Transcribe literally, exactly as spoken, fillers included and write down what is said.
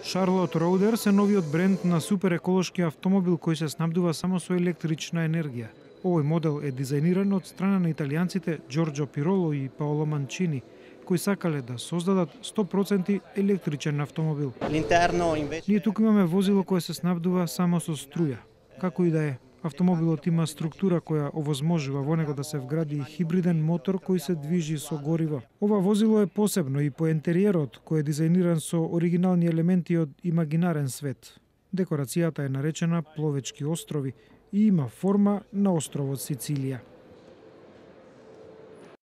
Charlotte Roaders е новиот бренд на супер еколошки автомобил кој се снабдува само со електрична енергија. Овој модел е дизајниран од страна на италијанците Джорџо Пироло и Паоло Манчини, кои сакале да создадат сто проценти електричен автомобил. Ние туку имаме возило кое се снабдува само со струја. Како и да е, автомобилот има структура која овозможува во него да се вгради хибриден мотор кој се движи со гориво. Ова возило е посебно и по интериерот, кој е дизајниран со оригинални елементи од имагинарен свет. Декорацијата е наречена Пловечки острови и има форма на островот Сицилија.